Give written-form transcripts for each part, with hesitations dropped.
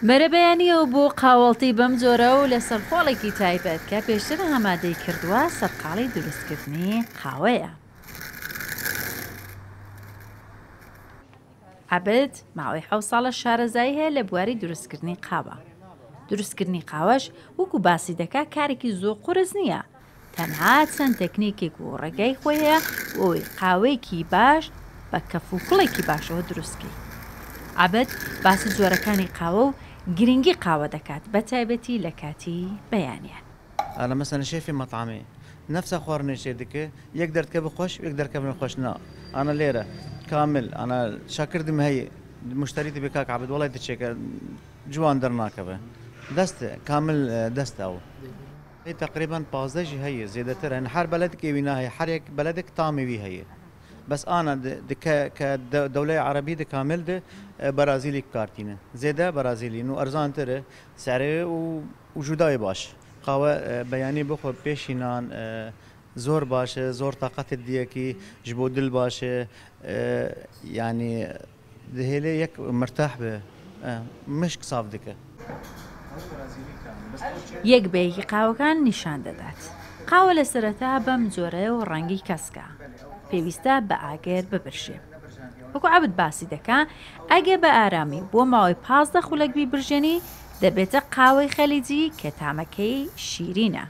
بەرەبەیانییەوە بۆ قاوەڵتی بەم جۆرە و لەسەر خۆڵێکی تایبەت کە پێشتر ئامادەی کردووە سەرقاڵی دروستکردنی قاوەیە. عەبد ماوەی حەوت ساڵە شارەزایی هەیە لە بواری دروستکردنی قاوە. دروستکردنی قاوەش وەکو باسی دەکا کارێکی زۆر قورس نییە، تەنها چەند تەکنیکێک و ڕێگای خۆی هەیە بۆ ئەوەی قاوەیەکی باش بە کەف و کوڵێکی باشەوە دروست کەی. عەبد باسی جۆرەکانی قاوە و گرنگی قاوە دەکات بە تایبەتی لە کاتی بەیانیان. ئەنا مەسەلەن شێفی مەتعەمێ نەفسە خواردنێ چێ دکە یەک دەردکەڤ خوەش یەک دەرکەڤ خوەش نا ئەنا لێرە کامل ئەنا شاکردم هەی مشتری دبێ کاک عەبد وەڵای دچێکە جوان دەرناکەڤ دەست کامل دەست ئەو تەقریبەن 15 ژی هەیە زێدەتر هەن هەر بەلەدک ئێوی ناهەیە هەر یەک بەلەدک تامێ وی هەیە بەس ئانا دکە کە دەولەی عەرەبی د کامل د بەرازیلی بکارتینە زێدە بەرازیلی نو ئەرزانترە سعرێ و و جودای باش. قاوە بەیانی بخۆ پێشی نان زۆر باشە زۆر تاقەتت دیەکی ji bo dil باشە یانی دهێلێ یەک مرتاح بێ مشک ساف دکە. یەک بە یەکی قاوەکان نیشان دەدات. قاوە لە سەرەتا بەم جۆرەیە و ڕەنگی کەسکە. پێویستە بە ئاگر ببرژێ. وەکو عەبد باسی دەکا ئەگە بە ئارامی و بۆ ماوەی 15 خولەک بیبرژێنی دەبێتە قاوەی خەلیجی کە تامەکەی شیرینە.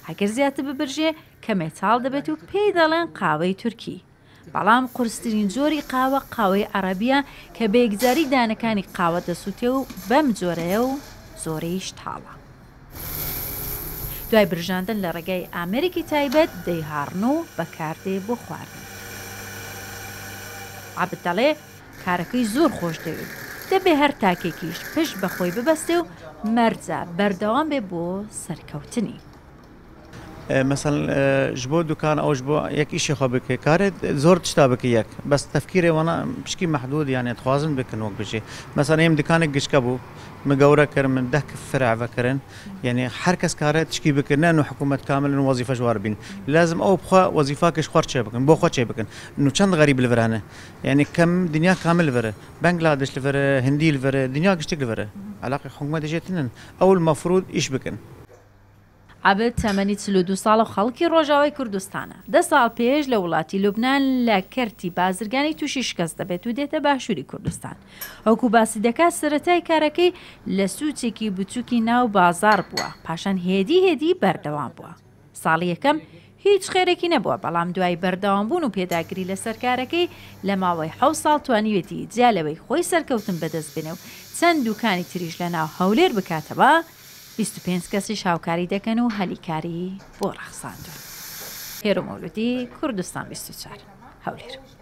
ئەگەر زیاتر ببرژێ کەمێ تاڵ دەبێت و پێی دەڵێن قاوەی تورکی. بەڵام قورسترین جۆری قاوە قاوەی عەڕەبیە کە بە یەکجاری دانەکانی قاوە دەسوتێ و بەم جۆرەیە و زۆریش تاڵە. دوای برژاندن لە ڕێگای ئامێرێکی تایبەت دەیهاڕن و بەکاردێ بۆ خواردن. عەبد دەڵێ کارەکەی زۆر خۆش دەوێ و دەبێ هەر تاکێکیش پشت بە خۆی ببەستێ و مەرجە بەردەوام بێ بۆ سەرکەوتنی. مەسەلەن ji bo dukan ew ji bo yek îşê xwe bike karê zor tişta bike yek bes tefkîrê wana pişkî mehdûd yanê dixwazin bikin wek bijî meselen êm dikanek giçke bû min gewre kir min deh fir'e vekirin yanî her kes kare tişkî bike ne nû hikûmet kamil nû wezîfe ji war bîn lazim ew bi xwe wezîfakê ji xwe re çê bikin bo xwe çê bikin nû çend xerîb li vir hene yanî kem dinya kamil li vir e Bengladeş li vir e hindî li vir e dinya giştik li vir e elaqê hikûmetê jê tune ew li mefrûd îş bikin. عەبد تەمەنی 42 ساڵە و خەڵکی ڕۆژاوای کوردستانە. دە ساڵ پێش لە وڵاتی لوبنان لە کەرتی بازرگانی تووشی شکست دەبێت و دێتە باشووری کوردستان. وەکو باسی دەکات سەرەتای کارەکەی لە سوچێکی بچووکی ناو بازاڕ بووە، پاشان هێدی هێدی بەردەوام بووە. ساڵی یەکەم هیچ خێرێکی نەبووە، بەڵام دوای بەردەوامبوون و پێداگری لەسەر کارەکەی لە ماوەی حەوت ساڵ توانیویەتی جیا لەوەی خۆی سەرکەوتن بەدەست بێنێ و چەند دوکانی تریش لەناو هەولێر بکاتەوە، 25 کەسیش هاوکاری دەکەن و هەلی کاری بۆ ڕەخساندوون. هێرۆ مەولودی، کوردستان 24، هەولێر.